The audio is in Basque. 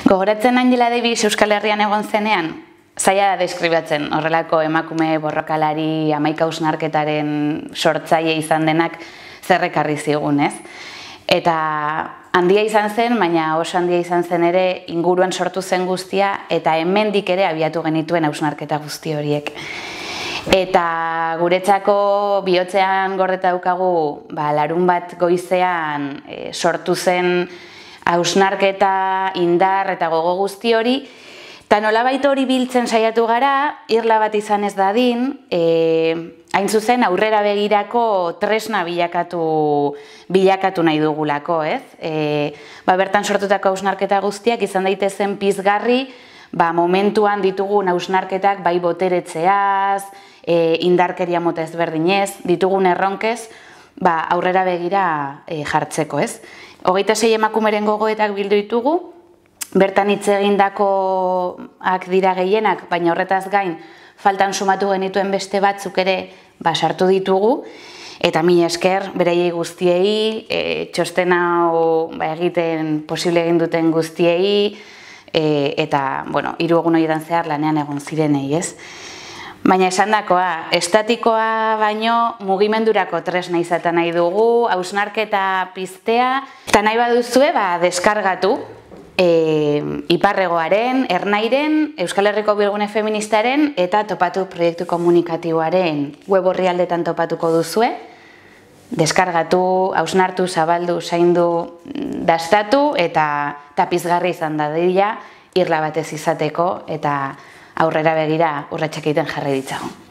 Gogoratzen Angela Davis Euskal Herrian egon zenean, zaila da deskribatzen horrelako emakume borrokalari 11 hausnarketaren sortzaile izan denak zerrekarri zigun, ez? Eta handia izan zen, baina oso handia izan zen ere inguruan sortu zen guztia eta hemendik ere abiatu genituen hausnarketa guzti horiek. Eta guretzako bihotzean gordeta daukagu larun bat goizean sortu zen hausnarketa, indar eta gogo guzti hori, eta nolabait hori biltzen saiatu gara, irla bat izan ez dadin, hain zuzen aurrera begirako tresna bilakatu nahi dugulako, ez? Bertan sortutako hausnarketa guztiak izan daitezen pizgarri, momentuan ditugun hausnarketak bai boteretzeaz, indarkeria mota ezberdinez, ditugun erronkez, aurrera begira jartzeko, ez? 26 emakumeren gogoetak bildu ditugu, bertan hitz egindakoak dira gehienak, baina horretaz gain faltan sumatu genituen beste batzuk ere sartu ditugu, eta mila esker beraiei guztiei, txosten hau egiten posible egin duten guztiei, eta, 3 egun horietan zehar lanean egon zirenei, ez? Baina esandakoa, estatikoa baino mugimendurako tresna izaten nahi dugu, hausnarketa piztea, eta nahi baduzue deskargatu Iparregoaren, Ernairen, Euskal Herriko Bilgune Feministaren eta Topatu proiektu komunikatiboaren web orrialdetan topatuko duzue. Deskargatu, hausnartu, zabaldu, zaindu, dastatu eta pizgarri izan dadila irla batez izateko eta aurrera begira urratsak egiten jarri ditzagun.